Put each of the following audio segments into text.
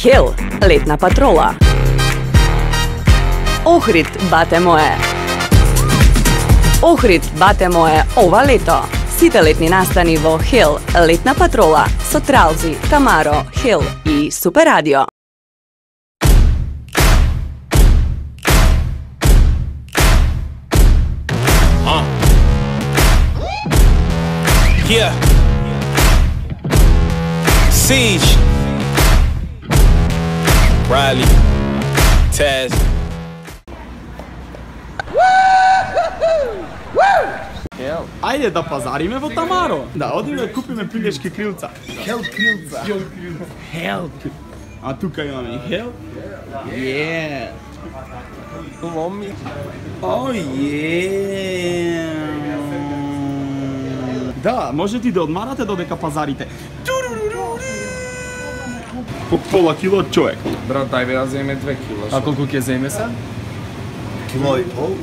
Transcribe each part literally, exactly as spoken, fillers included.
Хел, летна патрола. Охрид, бате мое. Охрид, бате мое, ова лето. Сите летни настани во Хел, летна патрола, со Тралзи, Тамаро, Хел и Супер Радио. Uh. Yeah. Siege. Riley. Taz. Ајде да пазариме во Тамаро. Да, одиме да купиме пилешки крилца. Хел крилца. Хел. А тука имаме и хел. Е. Ломи. О, е. Да, можете и да одмарате додека пазарите. По пола кило од човек. Брат, ајде да земе две кила. А колку ќе земе се? Кило и пол?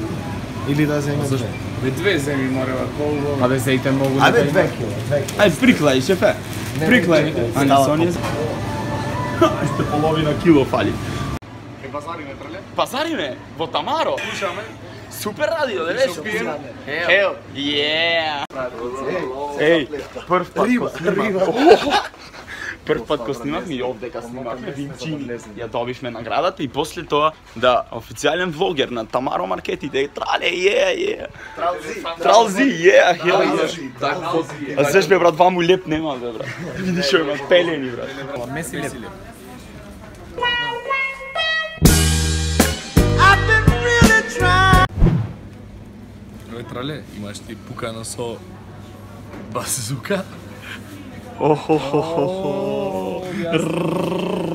Или да земе две? Бе две земи морева колко. Абе, зејте многу. Ајде две кила, две кила. Ај, приклај, шефе. Приклај. А не со ние. Уште половина кило фали. Ке пазариме треле? Пазариме во Тамаро. Слушаме. Супер радио, да веш. Пиеме. Хел. Е. Еј, прв пат Риба, ко снимав. риба. Прв пат ко снимавме и овдека снимавме Винчини. Ја добивме наградата и после тоа да официјален влогер на Тамаро маркетите. Трале, е, е. Тралзи, е, хел. А зеш бе брат, ваму леп нема бе брат. Видиш што има пелени брат. Меси леп. Ой, трале, имаш ти пукано со базука? Охо-хо-хо-хо.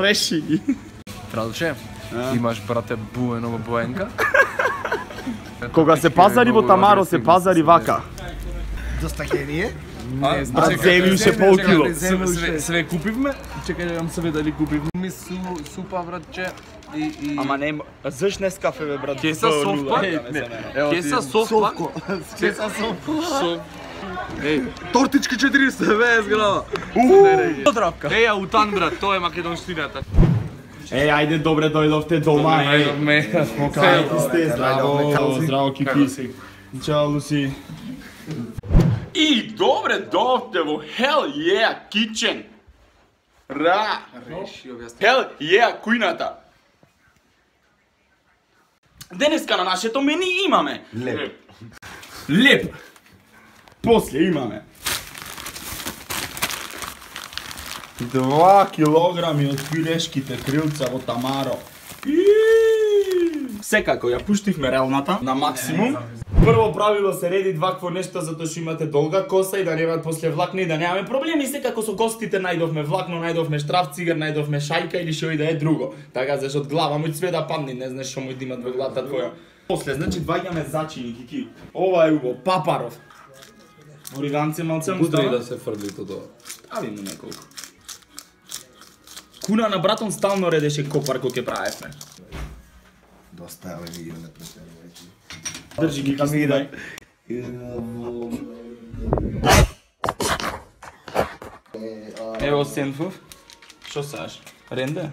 Реши. Тралче, имаш брате буено во боенка? Кога се пазари во Тамаро, се пазари вака. Доста гение. Не, Брат, земи уште пол кило. Све, све купивме? Чекај да јам себе дали купивме. Ми су супа братче и и Ама не, заш не скафе бе брат. Кеса софпа? Кеса софпа? Кеса софпа? Еј, тортички четиристо педесет грама. Подравка. Еј, аутан брат, тоа е македонштината. Е, ајде добре дојдовте дома. Најдовме. Кај сте, здраво, Здраво, здраво кипи. Чао Луси. И добре дојдовте во Hell Yeah Kitchen. Ра. Hell Yeah кујната. Денеска на нашето мени имаме леп. леп. После имаме два килограми од пилешките крилца во Тамаро. Секако ја пуштивме релната на максимум. Прво правило се реди вакво нешто затоа што имате долга коса и да немаат после влакна и да немаме проблеми. Секако со гостите најдовме влакно, најдовме штраф цигар, најдовме шајка или што и да е друго. Така зашто од глава му све да падне, не знаеш што му да имат во главата твоја. После значи дваѓаме зачини кики. Ова е убаво, папаров. Ориганце малце му става. да се фрли тоа. Стави му неколку. Куна на братон стално редеше копар кој ќе правевме. Доста е овие видео на претерано. Држи ги киснидај. Ево сенфов. Шо саш? Ренде?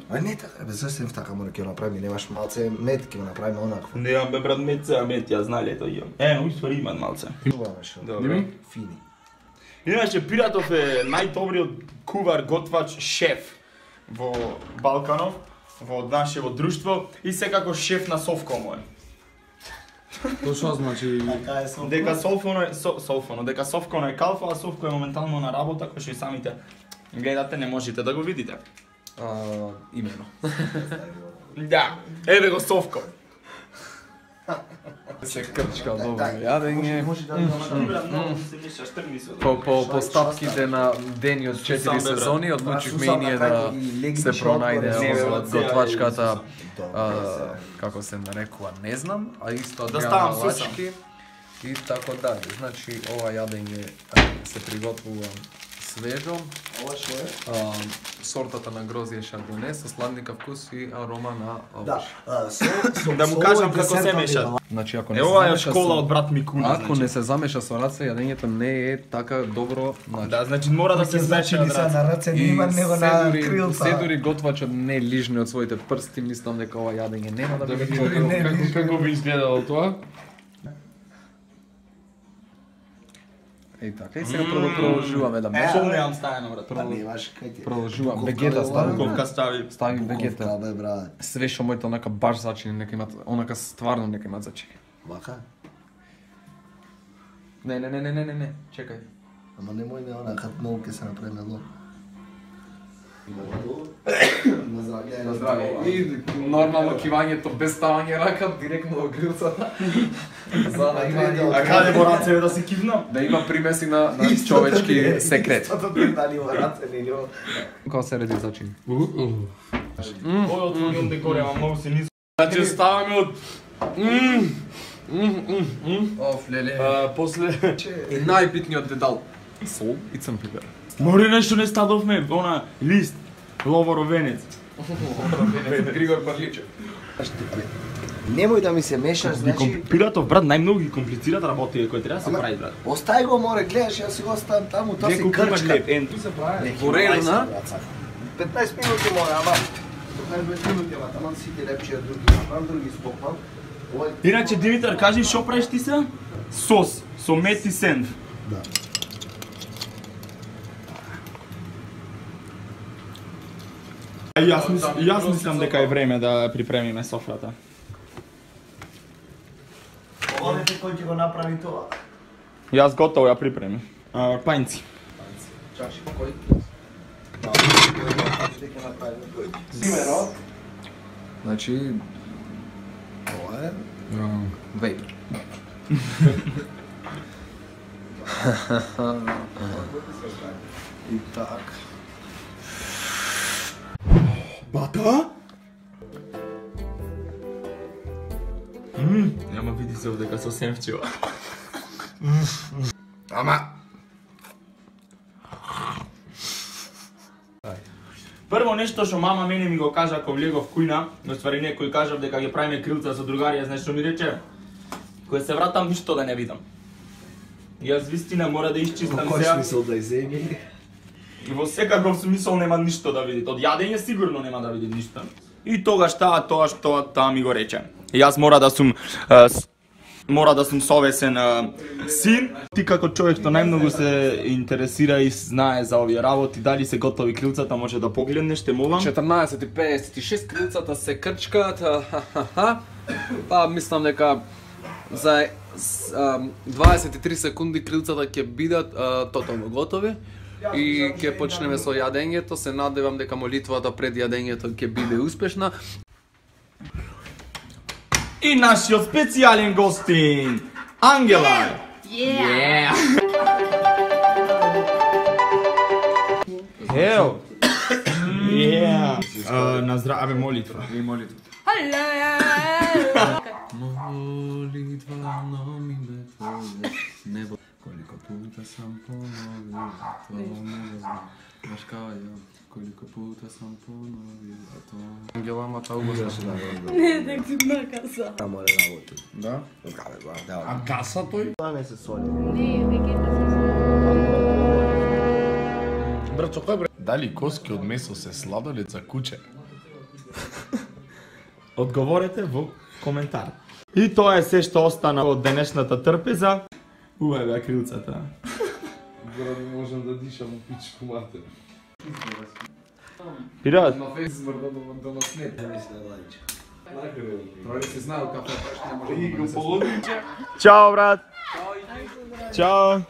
А не така, бе, зашто така мора ќе го направиме, немаш малце мед, ќе го направиме онакво. Немам бе брат мет, сега мет, ја знали ето имам. Е, но ствари имат малце. Чуваме шо. Добро. Фини. Иначе Пиратов е најдобриот кувар, готвач, шеф во Балканов, во нашево друштво и секако шеф на Совкомо е. Тоа што значи? Дека Солфоно е со, Солфоно, дека Совконо е калфа, а Совко е моментално на работа, кој што и самите гледате, не можете да го видите. А, имено. Да, еве го Совко. Се крчка добро јадење. По, По по постапките на дени од четири сезони одлучивме и ние да се пронајде од готвачката, а, како се нарекува, не знам, а исто Да од ставам лачки и така дале. Значи ова јадење а, се приготвува свежо. Ова шо е? А, сортата на грозје шардоне со сладника вкус и арома на Да, овош. со Да му кажам како се меша. Значи ако не Е, се ова е замеша школа со од брат Микуна, ако значи. не се замеша со раце, јадењето не е така добро, значи. Да, значи мора да се смеша значи од на раце не има него се на дури, крилца. се дури готвачот не лижне од своите прсти, мислам дека ова јадење нема да биде видиме добро. не Како, лижне. како би изгледало тоа? Еј така, и сега прво продолжуваме да Е, мешаме. Што немам стајано, брат. Па немаш кај ти. Продолжувам. Буковка Вегета бе, стави. ова. Ковка стави. Стави вегета. Буковка бе, брат. Све што моите онака баш зачини, нека имат, онака стварно нека имат зачини. Вака? Не, не, не, не, не, не, не, чекај. Ама немој не она, кад многу ке се направи мело. На здравје. На здравје. И нормално кивањето без ставање рака директно до грилцата. За да има А каде во раце да се кивнам? да има примеси на, на човечки секрет. Истото ти дали во раце, не њо. Како се реди зачини? Ој отвориум декор, ама многу се низко. Значи ставаме од... Оф, леле. А, после... И најбитниот дедал. Сол и црн пипер. Море нешто не стадовме, она лист, ловоровенец. Григор Парличев. Немој да ми се мешаш, значи... Пиратов брат најмногу ги комплицират работите кои треба да се Ама, прави брат. Остави го, море, гледаш, јас си го оставам таму, тоа се Неколку имаш крчка. леп, ен ту се прави. Горелна. петнаесет минути море, ама... петнаесет минути, ама таман сите лепчија други, направам други спокпам. Овој... Иначе Димитар, кажи што правиш ти се? Сос, со мет и сенф. Да. А јас мислам, јас мислам дека е време да припремиме софрата. Одете кој ќе го направи тоа? Јас готово ја припремив. А, пајнци. Чаши, кој? Ќе направиме кој? Примеро? Значи, Ова е... вейп. И так. Бата? Мм, нема види се дека со сенфчева. Ама... Прво нешто што мама мене ми го кажа кога влегов кујна, но ствари некој кажав дека ги правиме крилца со другарија, знаеш што ми рече? Кога се вратам ништо да не видам. Јас вистина мора да исчистам Кој сега. смисол да иземи? И во секаков смисол нема ништо да види. Од јадење сигурно нема да види ништо. И тогаш таа тоа што таа ми го рече. И јас мора да сум е, с- мора да сум совесен е, син. Ти како човек што најмногу се интересира и знае за овие работи, дали се готови крилцата, може да погледнеш, те молам. четрнаесет и педесет и шест крилцата се крчкаат. ха-ха-ха. Па мислам дека за с, ам, дваесет и три секунди крилцата ќе бидат а, тотално готови и ќе почнеме со јадењето. Се надевам дека молитвата пред јадењето ќе биде успешна. И нашиот специјален гостин, Ангела. Yeah. Ео. Yeah. Uh, на здраве молитва. И молитва. Hello. Молитва на име Твое, небо, колико пута сам поновил, тоа не знам, баш као ја, колико пута сам поновил, а тоа... Ангела, ама таа угоста се Не, дека ти накаса. Та море работи. Да? Добре, брат, да. А гаса тој? Тоа не се соли. Не, вегета се. Брат, со кој бре? Дали коски од месо се сладолет за куче? Одговорете во коментар. И тоа е се што остана од денешната трпеза. Уе бе крилцата. Брат, можам да дишам у пичку матер. Пират, На фейс измрда до нас не. Мисле, Владиче. Тоа се знаел кафе, што не може да се чао брат. Чао.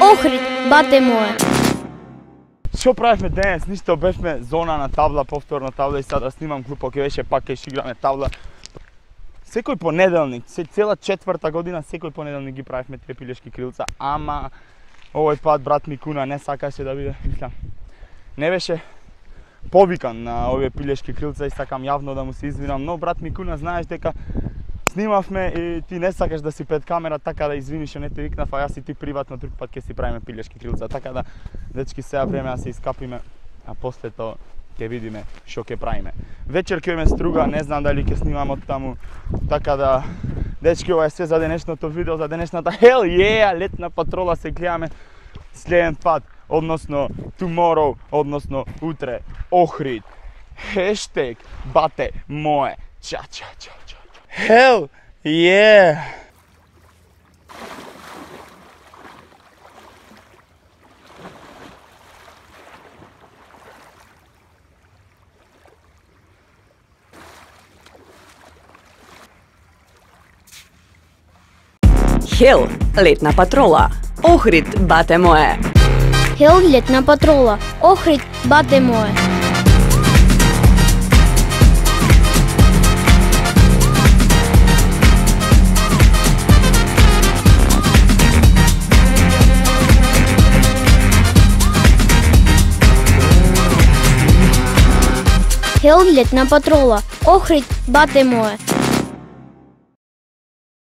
Охрид, бате моје. Што правевме денес? Ништо, бевме зона на табла, повторна табла и сега да снимам клупо, ќе беше пак ќе играме табла. Секој понеделник, се цела четврта година, секој понеделник ги правевме тие пилешки крилца, ама овој пат брат Микуна не сакаше да биде, мислам, не беше повикан на овие пилешки крилца и сакам јавно да му се извинам, но брат Микуна знаеш дека снимавме и ти не сакаш да си пред камера, така да извини што не те викнав, а јас и ти приватно друг пат ќе си правиме пилешки крилца, така да дечки сега време да се искапиме, а после тоа ќе видиме што ќе правиме. Вечер ќе имаме струга, не знам дали ќе снимам од таму, така да дечки, ова е све за денешното видео, за денешната hell yeah, летна патрола, се гледаме следен пат, односно tomorrow, односно утре, Охрид, хештег бате мое, ча ча ча ча, hell yeah. Хел, летна патрола. Охрид, бате мое. Хел, летна патрола. Охрид, бате мое. Хел, летна патрола. Охрид, бате мое.